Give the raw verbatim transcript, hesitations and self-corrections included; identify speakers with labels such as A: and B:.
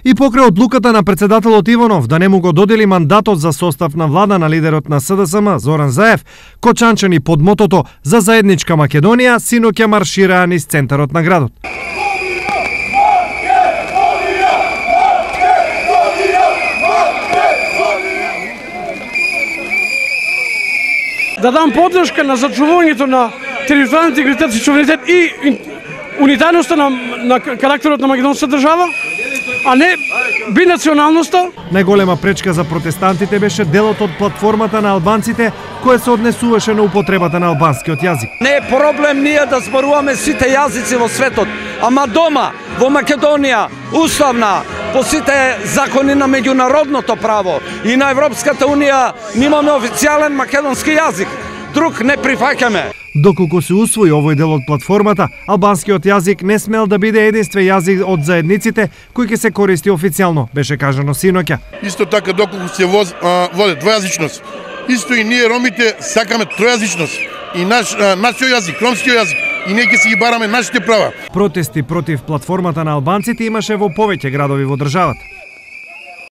A: И покрај одлуката на председателот Иванов да не му го додели мандатот за состав на влада на лидерот на С Д С М Зоран Заев, кочанчани под мотото за заедничка Македонија синоќа маршираа низ центарот на градот.
B: Да дам поддршка на зачувувањето на територијалниот интегритет и суверенитет и унитарноста на, на карактерот на македонската држава, а не бинационалноста.
A: Најголема пречка за протестантите беше делот од платформата на албанците кој се однесуваше на употребата на албанскиот јазик.
C: Не е проблем ние да зборуваме сите јазици во светот, ама дома, во Македонија, уставна, по сите закони на меѓународното право и на Европската унија, немаме официјален македонски јазик. Друг не прифаќаме.
A: Доколку се усвои овој дел од платформата, албанскиот јазик не смел да биде единствен јазик од заедниците кој ќе се користи официјално, беше кажано синоќа.
D: Исто така доколку се воз, а, води двојазичност, исто и ние ромите сакаме тројазичност и наш а, нашиот јазик, ромскиот јазик, и ние ќе си ги бараме нашите права.
A: Протести против платформата на албанците имаше во повеќе градови во државата.